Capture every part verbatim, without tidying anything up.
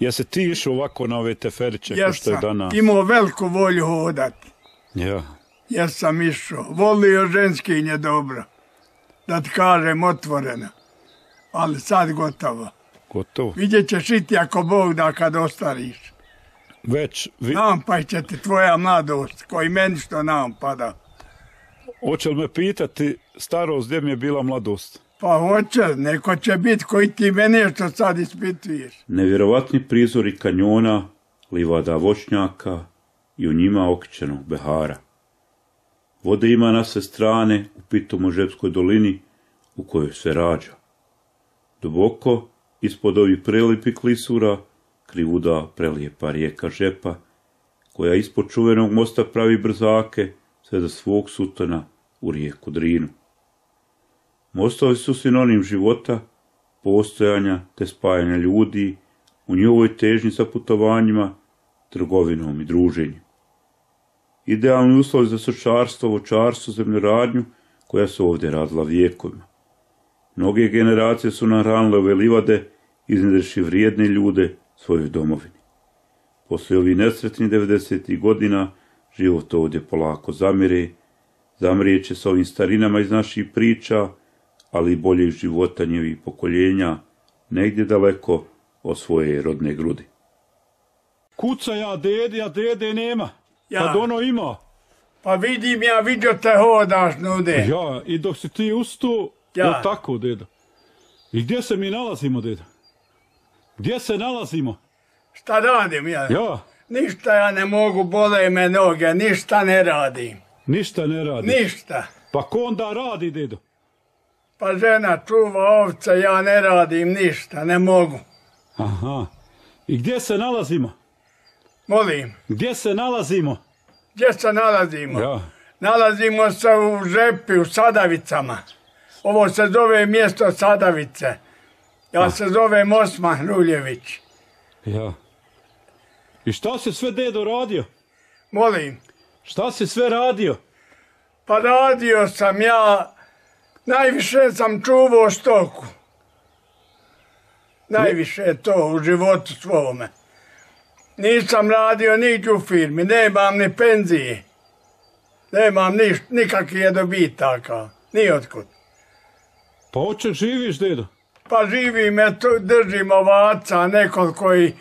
Jesi ti išao ovako na ove teferiće, ko što je danas? Jesam, imao veliku volju hodati. Ja. Jesam išao, volio ženskinje dobro, da ti kažem otvoreno, ali sad gotovo. Gotovo? Vidjet ćeš i ti ako Bog da kad ostariš. Već... Vi... Nampaj će ti tvoja mladost, koji meni što nampada. Hoće li me pitati starost gdje mi je bila mladost? Pa hoće, neko će biti koji ti mene što sad ispituješ. Nevjerovatni prizori kanjona, livada voćnjaka i u njima okćenog behara. Vode ima na sve strane u Pitomožepskoj dolini u kojoj se rađa. Duboko, ispod ovih prelipih klisura, krivuda prelijepa rijeka Žepa, koja ispod čuvenog mosta pravi brzake sve do svog sutona u rijeku Drinu. Mostovi su sinonim života, postojanja te spajanja ljudi u njihovoj težnji za putovanjima, trgovinom i druženjem. Idealni uslovi za stočarstvo, voćarstvo, zemljoradnju koja su ovdje radila vijekovima. Mnoge generacije su nahranile ove livade, iznedreši vrijedne ljude svojoj domovini. Poslije ovih nesretnih devedesetih godina život ovdje polako zamire, zamrijeće s ovim starinama iz naših priča, ali i boljeg života njihovih pokoljenja, negdje daleko od svoje rodne grudi. Kuca ja dede, a dede nema. Ja. Kad ono ima. Pa vidim ja, vidio te hodaš nude. Ja, i dok si ti ustu, ja. O tako, dedo. I gdje se mi nalazimo, dedo? Gdje se nalazimo? Šta radim ja? Ja. Ništa ja ne mogu, bole me noge, ništa ne radim. Ništa ne radi? Ništa. Pa ko onda radi, dedo? Pa žena čuva ovce, ja ne radim ništa, ne mogu. Aha. I gdje se nalazimo? Molim. Gdje se nalazimo? Gdje se nalazimo? Ja. Nalazimo se u Žepi, u Sadavicama. Ovo se zove mjesto Sadavice. Ja ah. se zovem Osman Ruljević. Ja. I šta si sve, dedo, radio? Molim. Šta si sve radio? Pa radio sam ja, najviše sam čuvao stoku. Najviše je to u životu svome. Nisam radio niđe u firmi, nemam ni penzije. Nemam niš, nikakvih dobitaka, ni otkud. Pa oče živiš, dedo? Pa živim, eto, držim ovaca, nekoliko i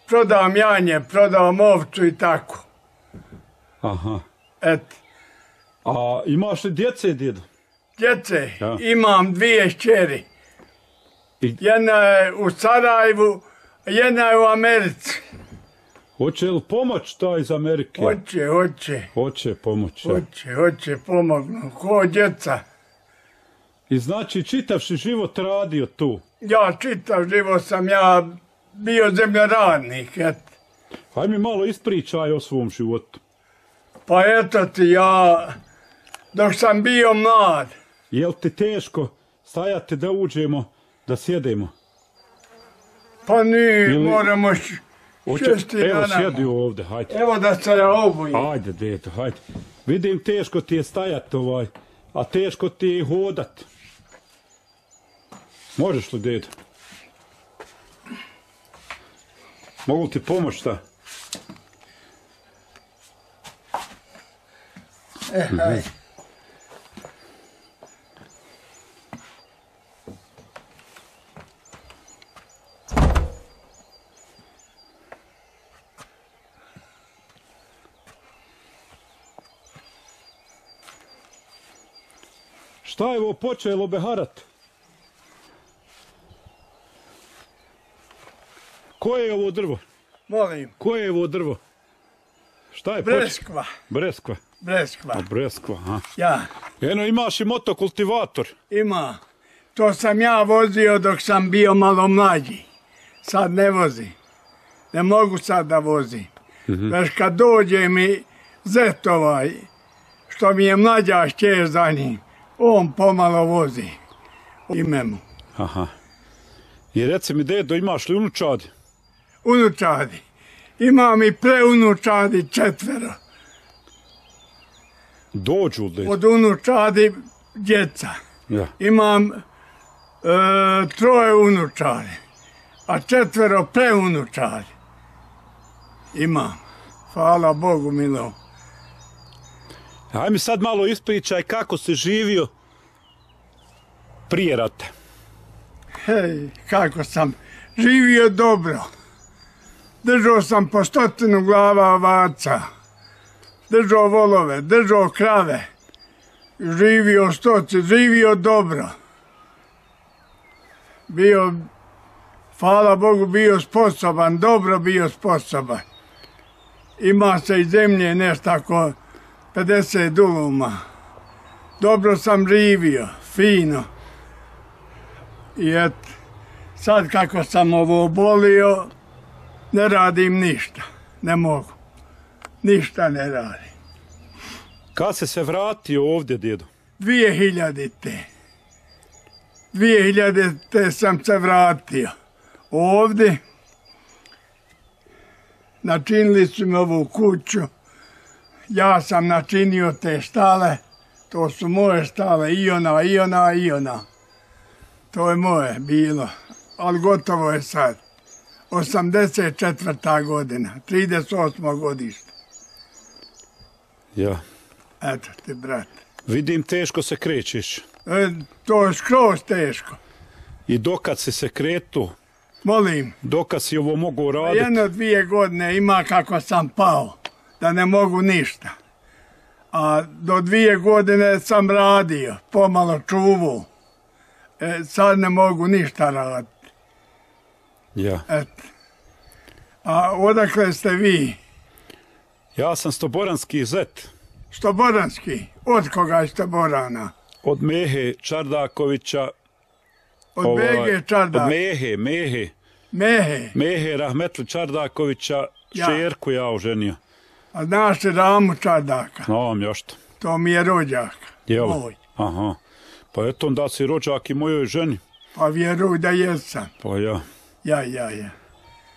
prodam janje, prodam ovcu i tako. Aha. Eto. A imaš li djece, dedo? Djece? Ja. Imam dvije šćeri. I... Jedna je u Sarajevu, jedna je u Americi. Hoće li pomoć ta iz Amerike? Hoće, hoće. Hoće pomoć. Ja. Hoće, hoće pomognu, ko djeca. I znači čitavši život radio tu? Ja čitav život sam ja bio zemljoradnik, eto. Haj mi malo ispričaj o svom životu. Pa eto ti ja, dok sam bio mlad. Jel ti teško stajati da uđemo, da sjedemo? Pa nije, Ili... moramo šesti dana. Evo sjedi ovdje, hajde. Evo da se ja obujim. Hajde, dedo, hajde. Vidim, teško ti je stajati ovaj, a teško ti je hodat. Možeš li, dedo? Mogu ti pomoći, šta? E, hajde. Šta je ovo počelo beharat? Koje je ovo drvo? Molim. Koje je ovo drvo? Šta je Breskva. Počelo? Breskva. Breskva. A breskva, aha. Ja. Eno, imaš i motokultivator. Ima. To sam ja vozio dok sam bio malo mlađi. Sad ne vozi. Ne mogu sad da vozi. Mm-hmm. Već kad dođe mi zet ovaj, što mi je mlađa šćer za njim, on pomalo vozi. Ime mu. Aha. I reci mi, dedo, imaš li unučadi? Unučadi. Imam i preunučadi četvero. Dođu li? Od unučadi djeca. Ja. Imam e, troje unučadi. a četvero preunučari. Imam. Hvala Bogu milo. Aj mi sad malo ispričaj kako si živio prije rata. Hej, kako sam živio dobro. Držao sam po stotinu glava ovaca. Držao volove, držao krave. Živio stoci, živio dobro. Bio, hvala Bogu, bio sposoban, dobro bio sposoban. Ima se i zemlje nešto ako pedeset duluma. Dobro sam živio, fino. I et, sad kako sam ovo obolio, ne radim ništa. Ne mogu. Ništa ne radim. Kad si se vratio ovdje, djedo? Dvije hiljadite. Dvije hiljadite sam se vratio. Ovdje. Načinili su mi ovu kuću. Ja sam načinio te štale. To su moje štale. I ona, i ona, i ona. To je moje bilo. Ali gotovo je sad. osamdeset četvrta godina. trideset osmo godište. Ja. Eto ti, brate. Vidim, teško se krećeš. E, to je skroz teško. I dokad si se kretu, Molim. dokad si ovo mogu raditi? Jedno dvije godine ima kako sam pao. Da ne mogu ništa. A do dvije godine sam radio. Pomalo čuvu. E, sad ne mogu ništa raditi. Ja. Eto. A odakle ste vi? Ja sam stoboranski zet. Stoboranski? Od koga je Stoborana? Od Mehe Čardakovića. Od ovaj, Bege Čardak? Od Mehe, Mehe. Mehe? Mehe Rahmetli Čardakovića, Ja. šerku ja oženio. A znaš li Ramu Čardaka? Znam još to. To mi je rođak. Jel? Moj. Aha. Pa eto onda si rođak i mojoj ženi. Pa vjeruj da jesam. Pa ja. Ja, ja, ja.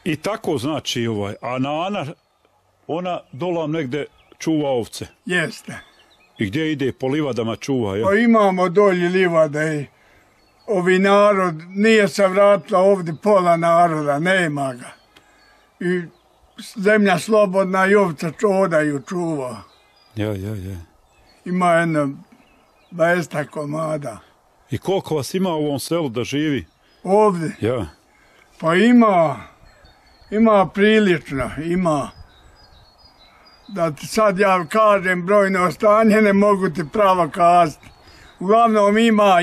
I tako znači ovaj. A Nana, ona dolam negde čuva ovce. Jeste. I gdje ide? Po livadama čuva, jel? Pa imamo dolje livade i ovi narod, nije se vratila ovdje pola naroda, nema ga. I zemlja slobodna i ovce čodaju čuva. Ja, ja, ja. Ima jedno dvadeset komada. I koliko vas ima u ovom selu da živi? Ovdje? Ja. Pa ima, ima prilično, ima. Da ti sad ja kažem brojno stanje, ne mogu ti pravo kazati. Uglavnom ima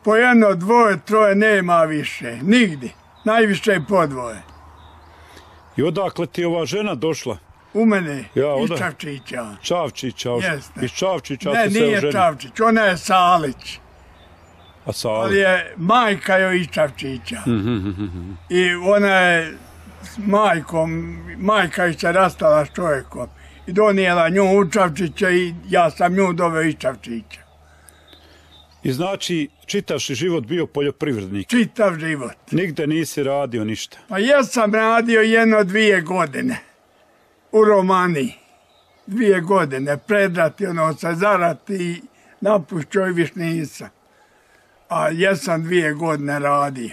po jedno, dvoje, troje, nema više. Nigdje. Najviše je po dvoje. I odakle ti je ova žena došla? U mene, Ja, iz oda- Čavčića. Čavčića. Jeste. Iz Čavčića Ne, ste se nije oženili. Čavčić, ona je Salić. A Sali? Ali je majka joj iz Čavčića. I ona je s majkom, majka je se rastala s čovjekom. I donijela nju u Čavčića i ja sam nju doveo iz Čavčića. I znači, čitav si život bio poljoprivrednik. Čitav život. Nigde nisi radio ništa. Pa jesam radio jedno dvije godine. U Romaniji. Dvije godine. Predrati, ono, se zarati i napušćoj viš nisam. A jesam dvije godine radio.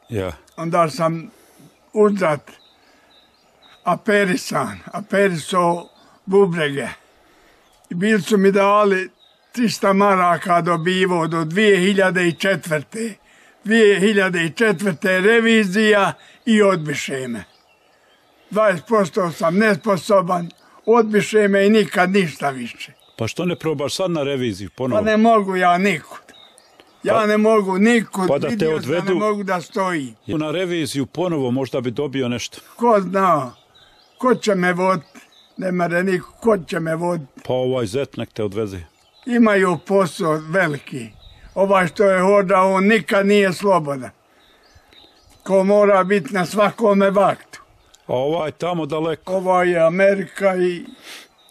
Ja. Onda sam uzrat aperisan, aperiso bubrege. I bili su mi dali trista maraka dobivo do dvije hiljade četvrte. dvije hiljade četvrte revizija i odbiše me. dvadeset posto sam nesposoban, odbiše me i nikad ništa više. Pa što ne probaš sad na reviziju ponovo? Pa ne mogu ja nikud. Ja Pa- ne mogu nikud, pa da te vidio sam da odvedu- ne mogu da stojim. Na reviziju ponovo možda bi dobio nešto. Ko zna, ko će me voditi? Ne mere niko, ko će me voditi? Pa ovaj zet nek te odveze. Imaju posao veliki. Ovaj što je hodao, on nikad nije slobodan. Ko mora biti na svakome vaktu. A ovaj tamo daleko. Ovo je Amerika i...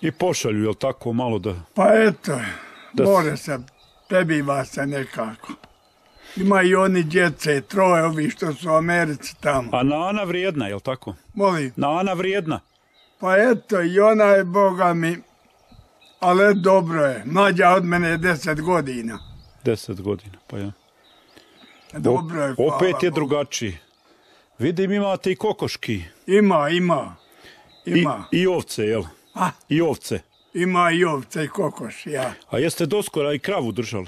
I pošalju, jel tako, malo da... Pa eto, Da s- more se, prebiva se nekako. Ima i oni djece, troje ovi što su u Americi tamo. A Nana vrijedna, jel tako? Molim, Nana vrijedna. pa eto, i ona je, Boga mi, ali dobro je. Mlađa od mene je deset godina. Deset godina, pa ja. Dobro je, hvala Opet je Bogu. drugačiji. Vidim imate i kokoški. Ima, ima. I, Ima. i ovce, jel? A, I ovce. ima i ovce i kokoš, ja. A jeste doskora i kravu držali?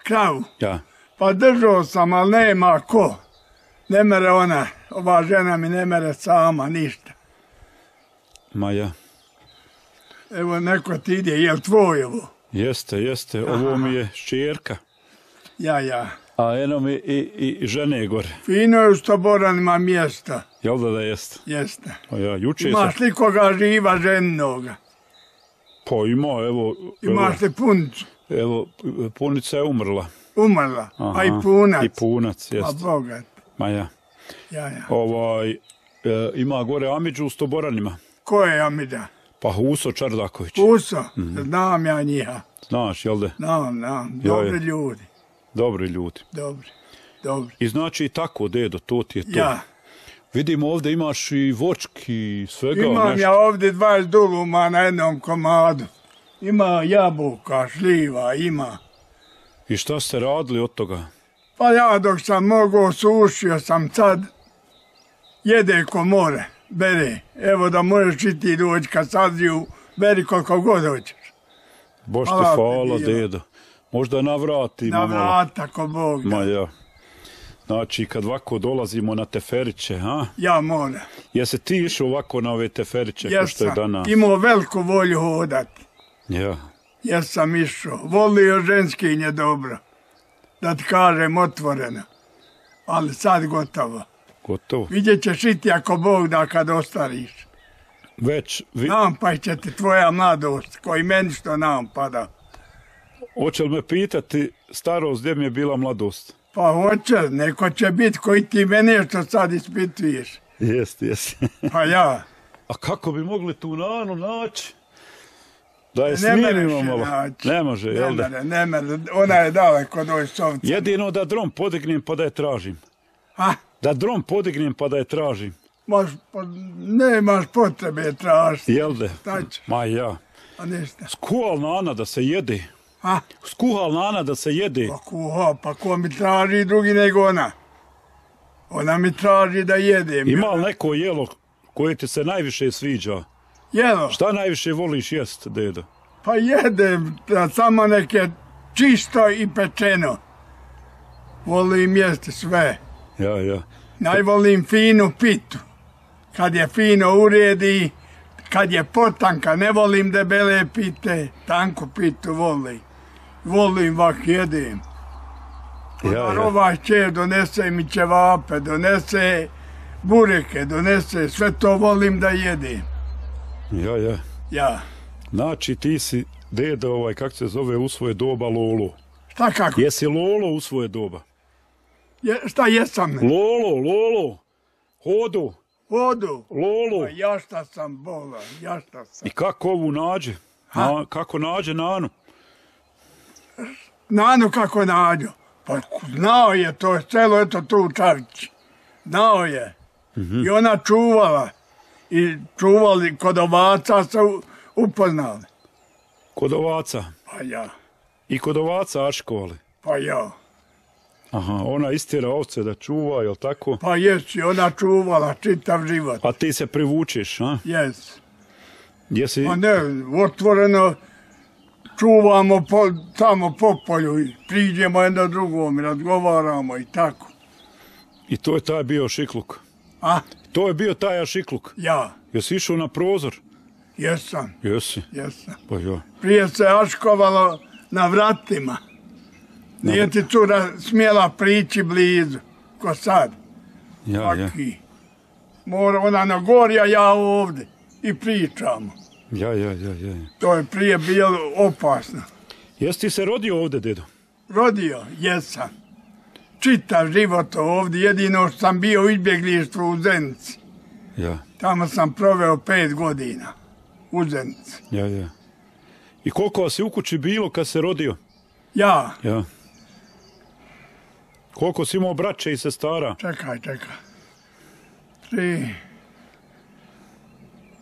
Kravu. Ja. Pa držao sam, ali nema ko. Ne mere ona, ova žena mi ne mere sama, ništa. Ma ja. Evo, neko ti ide, jel tvoj ovo? Jeste, jeste. Ovo mi je šćerka. Ja, ja. A eno mi i, i žene gore. Fino je u Stoboranima mjesta, Jel da da jeste? jeste. Pa ja, juče sam... Imaš li koga živa ženoga? Pa ima, evo... Imaš li puncu? Evo, evo punica je umrla. Umrla, a Aha, i punac. I punac, A jeste. bogat, Ma ja. ja, ja. Ovaj, e, ima gore Amidžu u Stoboranima. Ko je Amida? Pa Huso Čardaković. Puso, znam ja njiha. Znaš, jel da? Znam, znam, Ja, dobri ja. ljudi, Dobri ljudi. dobri, dobri. I znači i tako, dedo, to ti je to. Ja, Vidim ovdje imaš i vočki, svega imam nešto. ja ovdje dvadeset duluma na jednom komadu. Ima jabuka, šljiva, ima. I šta ste radili od toga? Pa ja dok sam mogao sušio sam sad, jede ko more, bere. Evo da možeš i ti doći kad saziju, beri koliko god hoćeš. Bož ti Hvala ti hvala, bilo. dedo. Možda navratimo Na malo. vrata ko Bog da. Ma ja. Znači, kad ovako dolazimo na teferiće, ha? Ja moram. Jesi ti išao ovako na ove teferiće, ko što je Jesam danas? imao veliku volju hodati. Ja. Jesam išao. Volio ženskinje dobro. Da ti kažem otvoreno. Ali sad gotovo. Gotovo. Vidjet ćeš i ti ako Bog da kad ostariš. Već, vi... Nampaj će ti tvoja mladost, koji meni što nampada. hoće li me pitati starost gdje mi je bila mladost? Pa hoće, neko će biti koji ti mene što sad ispituješ. Jest, jest. Pa ja. A kako bi mogli tu nanu naći? Da je Ne mereš smirimo je malo. naći. Ne može, Ne jel da? mere, ne mere. Ona je daleko doj sovca. Jedino da dron podignem pa da je tražim. A, Da dron podignem pa da je tražim. moš, po, nemaš potrebe tražiti. Jel da? Šta će? Ma ja. A ništa. Skuhal nana da se jede. A, Skuhal nana da se jede. pa kuha, pa ko mi traži drugi nego ona. Ona mi traži da jedem. Ima li neko jelo koje ti se najviše sviđa? Jelo? Šta najviše voliš jest, dedo? Pa jedem, da samo neke čisto i pečeno. Volim jesti sve. Ja, ja. Najvolim finu pitu. Kad je fino uredi, kad je potanka, ne volim debele pite, tanku pitu volim. Volim vak jedem. Ja, ja. Ovaj će donese mi ćevape, donese bureke, donese, sve to volim da jedem. Ja, ja. Ja. Znači ti si, dedo, ovaj, kako se zove, u svoje doba Lolo. Šta kako? Jesi Lolo u svoje doba? Je, šta jesam? Lolo, Lolo, hodu, Vodu. Lolo. Pa ja šta sam bolan, ja šta sam. I kako ovu nađe? Na, kako nađe Nanu? Nanu kako nađu. Pa znao je to, celo eto tu u Čavići. Znao je. I ona čuvala. I čuvali kod ovaca se u- upoznali. Kod ovaca. Pa ja, I kod ovaca aškovali. pa ja. Aha, ona istjera ovce da čuva, jel tako? Pa jesi, ona čuvala čitav život. A ti se privučeš, a? Jes. Jesi... Pa ne, otvoreno čuvamo po, tamo po polju i priđemo jedno drugom i razgovaramo i tako. I to je taj bio šikluk. A, To je bio taj šikluk. ja, Jesi išao na prozor? jesam, Jesi. jesam. Pa ja. Prije se aškovalo na vratima. Nije ti cura smjela prići blizu, ko sad. Ja, ja. Aki. Mora ona na gori, a ja ovdje. I pričamo. Ja, ja, ja, ja. To je prije bilo opasno. Jesi ti se rodio ovdje, dedo? Rodio, jesam. Čitav život ovdje, jedino što sam bio u izbjeglištvu u Zenici. Ja, Tamo sam proveo pet godina. U Zenici. ja, ja. I koliko vas je u kući bilo kad se rodio? Ja, Ja. Koliko si imao braće i sestara? čekaj, čekaj. Tri.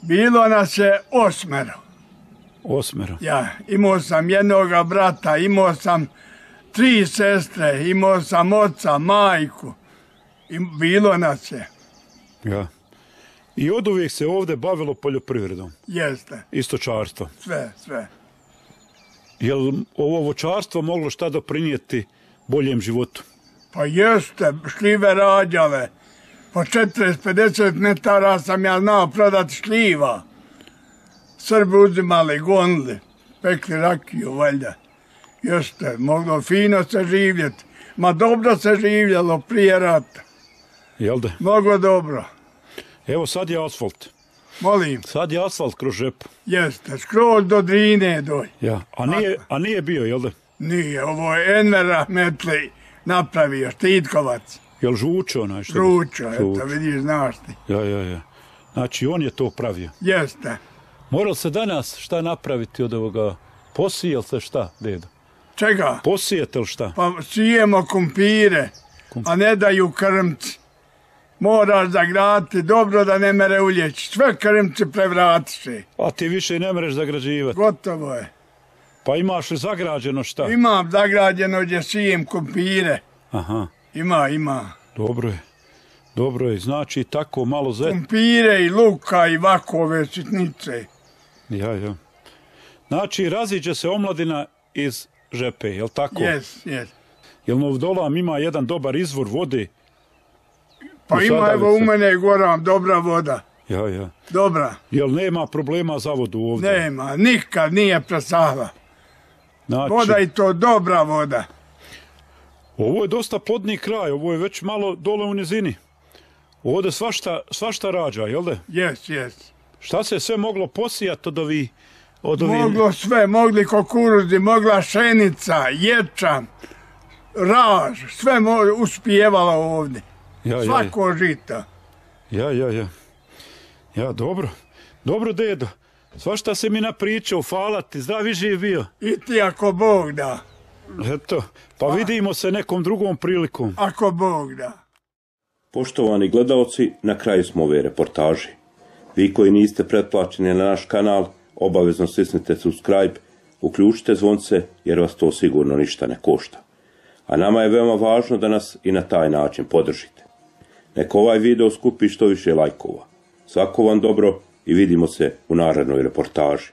Bilo nas je osmero. Osmero. Ja, imao sam jednoga brata, imao sam tri sestre, imao sam oca, majku. I bilo nas je. Ja. I od uvijek se ovdje bavilo poljoprivredom. Jeste. I stočarstvo. Sve, sve. Je li ovo voćarstvo moglo šta doprinijeti boljem životu? Pa jeste, šljive rađale. Po četrdeset pedeset metara sam ja znao prodati šljiva. Srbi uzimali, gonili, pekli rakiju, valjda. Jeste, moglo fino se živjeti. Ma dobro se živjelo prije rata. Jel da? Mnogo dobro. Evo sad je asfalt. Molim. Sad je asfalt kroz žepu. Jeste, skroz do Drine doj. Ja. A nije, a nije bio, jel da? Nije, ovo je Enver Rahmetli napravio, Štitkovac. Jel žučo onaj što? Žučo, eto, vidiš, znaš ti. Ja, ja, ja. Znači, on je to pravio. Jeste. Moral se danas šta napraviti od ovoga? Posijel se šta, dedo? Čega? Posijete li šta? Pa sijemo kumpire, a ne daju krmci. Moraš zagraditi dobro da ne mere uljeći. Sve krmci prevratiše. A ti više ne mereš zagrađivati. Gotovo je. Pa imaš li zagrađeno šta? Imam zagrađeno gdje sijem kumpire. Aha. Ima, ima. Dobro je. Dobro je. Znači tako malo zet. Kumpire i luka i vakove sitnice. Ja, ja. Znači raziđe se omladina iz žepe, jel tako? Jes, jes. Jel Novdolam ima jedan dobar izvor vode? Pa ima evo u mene Goran dobra voda. Ja, ja. Dobra. Jel nema problema za vodu ovdje? Nema, nikad nije presahla. Znači, Voda i to dobra voda. ovo je dosta plodni kraj, ovo je već malo dole u nizini. Ovdje svašta, svašta rađa, jel da? Jes, jes. Šta se sve moglo posijati od ovi... Od ovi... Moglo sve, mogli kukuruzi, mogla šenica, ječam, raž, sve mo uspijevalo ovdje. Ja, Svako ja, žita. ja, ja, ja. Ja, dobro. Dobro, dedo. Svašta se mi napričao, hvala ti, zdravi živ bio. I ti ako Bog da. Eto, pa vidimo se nekom drugom prilikom. Ako Bog da. Poštovani gledaoci, na kraju smo ove reportaže. Vi koji niste pretplaćeni na naš kanal, obavezno stisnite subscribe, uključite zvonce jer vas to sigurno ništa ne košta. A nama je veoma važno da nas i na taj način podržite. Neka ovaj video skupi što više lajkova. Svako vam dobro i vidimo se u narednoj reportaži.